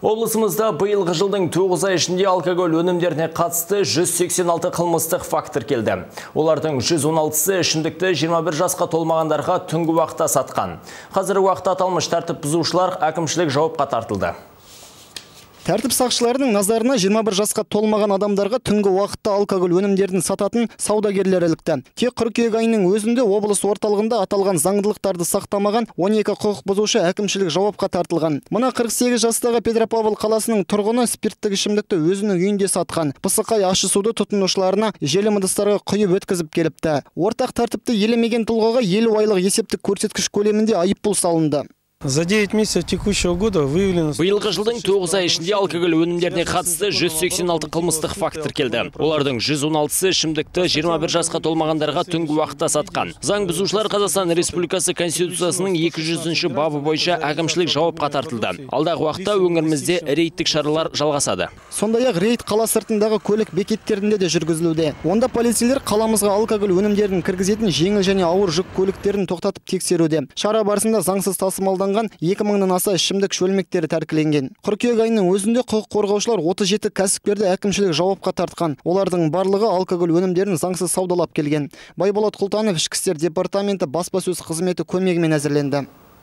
Облысымызда биылғы жылдың 9 ай ішінде алкоголь өнімдеріне қатысты 186 қылмыстық факт тіркелді. Олардың 116-сы ішімдікті 21 жасқа толмағандарға түнгі уақытта сатқан. Қазіргі уақытта аталмыш тәртіп бұзушылар әкімшілік жауапқа тартылды. Тәртіп сақшыларының назарына 21 жасқа толмаған адамдарға түнгі уақытта алкоголь өнімдерін сататын саудагерлер ілікті. Тек қыркүйек айының өзінде облыс орталығында аталған заңдылықтарды сақтамаған 12 құқық бұзушы әкімшілік жауапқа тартылған. Мына 48 жастағы Петропавл қаласының тұрғыны спирттік ішімдікті өзінің үйінде сатқан. Пысықай ащы суды тұтынушыларына желім ыдыстарға құйып өткізіп келіпті. Ортақ тәртіпті елемеген тұлғаға 50 айлық есептік көрсеткіш көлемінде айыппұл салынды. За 9 месяцев текущего года выявлено... Биылғы жылдың 9 ай ішінде алкоголь өнімдеріне қатысты 186 қылмыстық факт тіркелді. Олардың 116-сы ішімдікті 21 жасқа толмағандарға түнгі уақытта сатқан. Заң бұзушылар Қазақстан Республикасы Конституциясының 200-ші бабы бойынша әкімшілік жауапқа тартылды. Алдағы уақытта өңірімізде рейдтік шаралар жалғасады. Сондай-ақ рейд қала сыртындағы көлік бекеттерінде де жүргізілуде. Онда полицейлер қаламызға алкоголь өнімдерін кіргізетін жеңіл және ауыр жүк көліктерін тоқтатып тексеруде. Шара барысында заңсыз тасымалданған 2000-нан аса ішімдік шөлмектері тәркіленген. Қыркүйек айының өзінде құқық қорғаушылар 37 кәсіпкерді әкімшілік жауапқа тартқан. Олардың барлығы алкоголь өнімдерін заңсыз саудалап келген. Байболат Құлтанов, Ішкі істер департаменті баспасөз қызметі көмегімен әзірленді.